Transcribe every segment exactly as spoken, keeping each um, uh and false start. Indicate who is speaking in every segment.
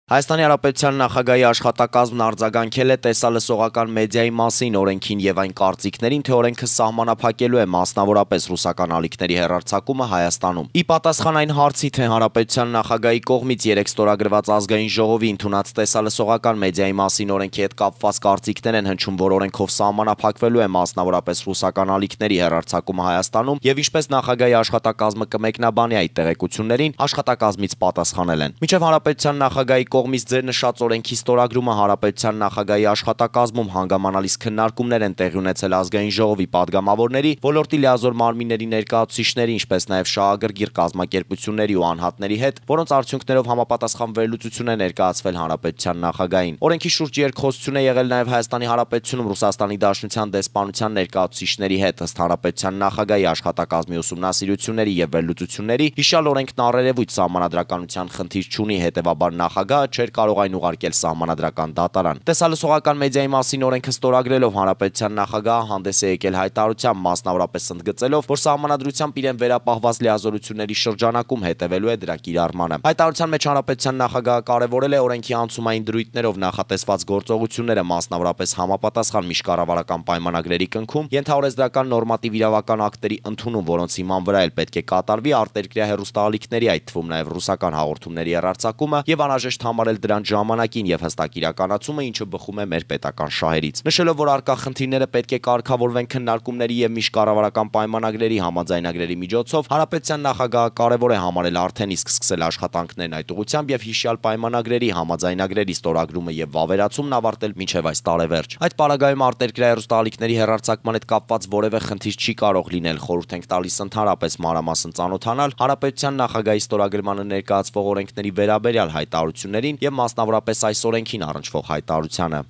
Speaker 1: Հայաստանի Հանրապետության նախագահի աշխատակազմն արձագանքել է տեսալսողական մեդիայի մասին օրենքին եւ այն կարծիքներին, թե օրենքը սահմանափակելու է մասնավորապես ռուսական ալիքների հեռարձակումը Հայաստանում։ Ի պատասխան այն հարցի, թե Հանրապետության նախագահի կողմից երեկ ստորագրված ազգային ժողովի ընդունած տեսալսողական մեդիայի մասին օրենքի հետ կապված կարծիքներ են հնչում, որ օրենքով սահմանափակվելու է մասնավորապես ռուսական ալիքների հեռարձակումը Հայաստանում եւ ինչպես նախագահի աշխատակազմը կմեկնաբանի այդ տեղեկություններին, աշխատակազմից պատասխանել են։ Մինչեւ Հանրապետության նախագահի կողմից ձեր նշած օրենքի ստորագրումը Հանրապետության նախագահի աշխատակազմում հանգամանալից քննարկումներ են տեղի ունեցել ազգային ժողովի падգամավորների, ոլորտի լիազոր մարմինների ներկայացուցիչների, ինչպես նաև շահագրգիռ կազմակերպությունների ու անհատների հետ, որոնց արդյունքներով համապատասխան վերլուծություն է ներկայացվել Հանրապետության նախագահին։ Օրենքի շուրջ երկխոսություն է եղել նաև Հայաստանի Հանրապետությունում Ռուսաստանի Դաշնության դեսպանության ներկայացուցիչների հետ, ըստ Հանրապետության նախագահի աշխատակազմի ուսումնասիրությունների եւ վերլուծությունների, հիշյալ օրենքն առերևույթ սահմանադրականության խնդիր չունի, հետեւաբար նախագահը չէր կարող այն ուղարկել սահմանադրական դատարան։ Տեսալսողական մեդիայի մասին օրենքը ստորագրելով Հանրապետության նախագահը հանդես է եկել հայտարարությամբ, մասնավորապես ընդգծելով, որ սահմանադրությամբ իրեն վերապահված լիազորությունների շրջանակում հետևելու է դրա կիրառմանը։ Հայտարարության մեջ Հանրապետության նախագահը կարևորել է օրենքի անցումային դրույթներով նախատեսված գործողությունները, մասնավորապես համապատասխան միջկառավարական պայմանագրերի կնքում, ենթահորեց դրական նորմատիվ իրավական ակտերի ընդունում, որոնց հիման վրա էլ պետք է կատարվի արտերկրյա հեռուստաալիքների, այդ թվում նաև ռուսական հաղորդումների հեռարձակումը եւ անհրաժեշտ համարել դրանց ժամանակին եւ հստակ իրականացումը, ինչը բխում է մեր պետական շահերից։ Նշելով, որ առկա խնդիրները պետք է կարգավորվեն քննարկումների եւ միջկառավարական պայմանագրերի համաձայնագրերի միջոցով, Հանրապետության նախագահը կարևոր է համարել արդեն իսկ սկսել աշխատանքներն այդ ուղղությամբ եւ հիշյալ պայմանագրերի համաձայնագրերի ստորագրումը եւ վավերացումն ավարտել մինչեւ այս տարեվերջ։ Այդ պարագայում արտերկրյա հեռուստաալիքների հեռարձակման հետ կապված որևէ խնդիր չի կարող լինել, խորհուրդ ենք տալիս ընդհանրապես մանրամասն ծանոթանալ Հանրապետության նախագահի ստորագրմանը ներկայացվող օրենքների վերաբերյալ հայտարարություններին եւ մասնավորապես այս օրենքին առնչվող հայտարարությանը։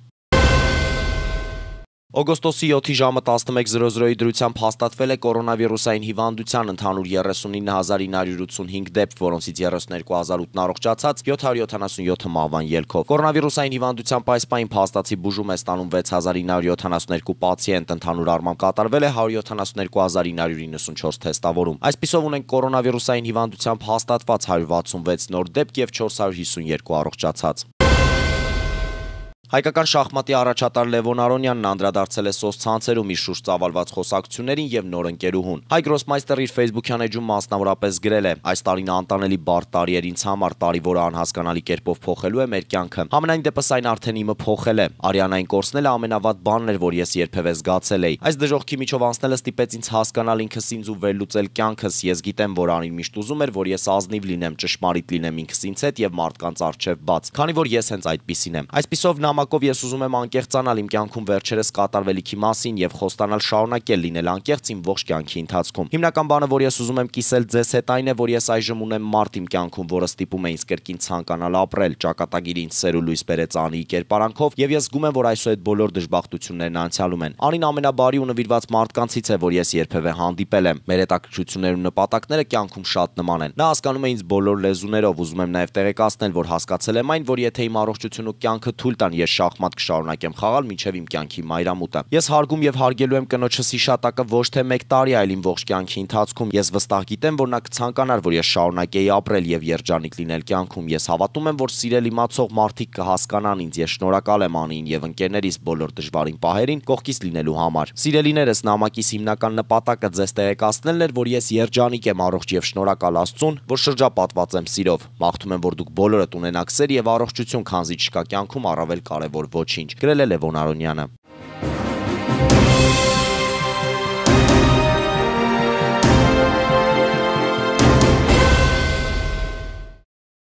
Speaker 1: Օգոստոսի յոթի ժամը տասնմեկ զրո զրոյի դրությամբ հաստատվել է կորոնավիրուսային հիվանդության ընդհանուր երեսունինը հազար ինը հարյուր ութսունհինգ դեպք, որոնցից երեսուններկու հազար ութն առողջացած, յոթ հարյուր յոթանասունյոթը մահվան ելքով։ Կորոնավիրուսային հիվանդությամբ այս պահին փաստացի բուժում է ստանում վեց հազար ինը հարյուր յոթանասուներկու պացիենտ, ընդհանուր առմամբ կատարվել է հարյուր յոթանասուներկու հազար ինը հարյուր իննսունչորս թեստավորում։ Այսպիսով ունենք կորոնավիրուսային հիվանդությամբ հաստատված հարյուր վաթսունվեց նոր դեպք եւ չորս հարյուր հիսունյերկու առողջացած։ Հայկական շախմատի առաջատար Լևոն Արոնյանն անդրադարձել է սոցցանցերում իր շուրջ ծավալված խոսակցություններին եւ նոր ընկերուհուն։ Հայ գրոսմայստերը իր Facebook-յան էջում մասնավորապես գրել է. «Այս տարին անտանելի բարդ տարի էր ինձ համար, տարի, որը անհասկանալի կերպով փոխելու է մեր կյանքը։ Համենայն դեպս այն արդեն իմը փոխել է։ Արիանային կորցնելը ամենավատ բանն էր, որ ես երբևէ զգացել էի։ Այս դժոխքի միջով անցնելը ստիպեց ինձ հասկանալ ինքս ինձ ու վերլուծել կյանքս։ Ես գիտեմ, որ Արին միշտ ուզում էր, որ ես ազնիվ լինեմ, ճշմարիտ լինեմ ինքս ինձ հետ եւ մարդկանց առջեւ բաց, քանի որ ես հենց այդպիսին եմ։ Այսպիսով նամակով ես ուզում եմ անկեղծանալ իմ կյանքում վերջերս կատարվելիքի մասին եւ խոստանալ շարունակել լինել անկեղծ իմ ողջ կյանքի ընթացքում։ Հիմնական բանը, որ ես ուզում եմ կիսել ձեզ հետ, այն է, որ ես այժմ ունեմ մարդ իմ կյանքում, որը ստիպում է ինձ կրկին ցանկանալ ապրել, ճակատագիրը ինձ սեր ու լույս բերեց Անիի կերպարանքով եւ ես զգում եմ, որ այսուհետ բոլոր դժբախտություններն անցյալում են։ Անին ամենաբարի ու նվիրված մարդկանցից է, որ ես երբևէ հանդիպել եմ։ Մեր հետաքրքրություններն ու նպատակները կյանքում շատ նման են։ Նա հասկանում է ինձ բոլոր լեզուներով, ուզում եմ նաեւ տեղեկացնել, որ հասկացել եմ այն, որ եթե իմ առողջությունը ու կյանքը թույլ տան, ես շախմատ կշարունակեմ խաղալ մինչև իմ կյանքի մայրամուտը։ Ես հարգում եւ հարգելու եմ կնոջս հիշատակը ոչ թե մեկ տարի, այլ իմ ողջ կյանքի ընթացքում։ Ես վստահ գիտեմ, որ նա կցանկանար, որ ես շարունակեի ապրել եւ երջանիկ լինել կյանքում։ Ես հավատում եմ, որ սիրել իմացող մարդիկ կհասկանան ինձ։ Ես շնորհակալ եմ Անիին եւ ընկերներիս բոլոր դժվարին պահերին կողքից լինելու համար։ Սիրելիներս, նամակիս հիմնական նպատակը ձեզ տեղեկացնելն էր, որ ես երջանիկ եմ, առողջ եւ շնորհակալ Աստծուն, որ շրջապատված եմ սիրով։ Մաղթում եմ, որ դուք բոլորդ ունենաք սեր եւ առողջություն, քանզի չկա կյանքում առավել կարեւոր ոչինչ, գրել է Լևոն Արոնյանը։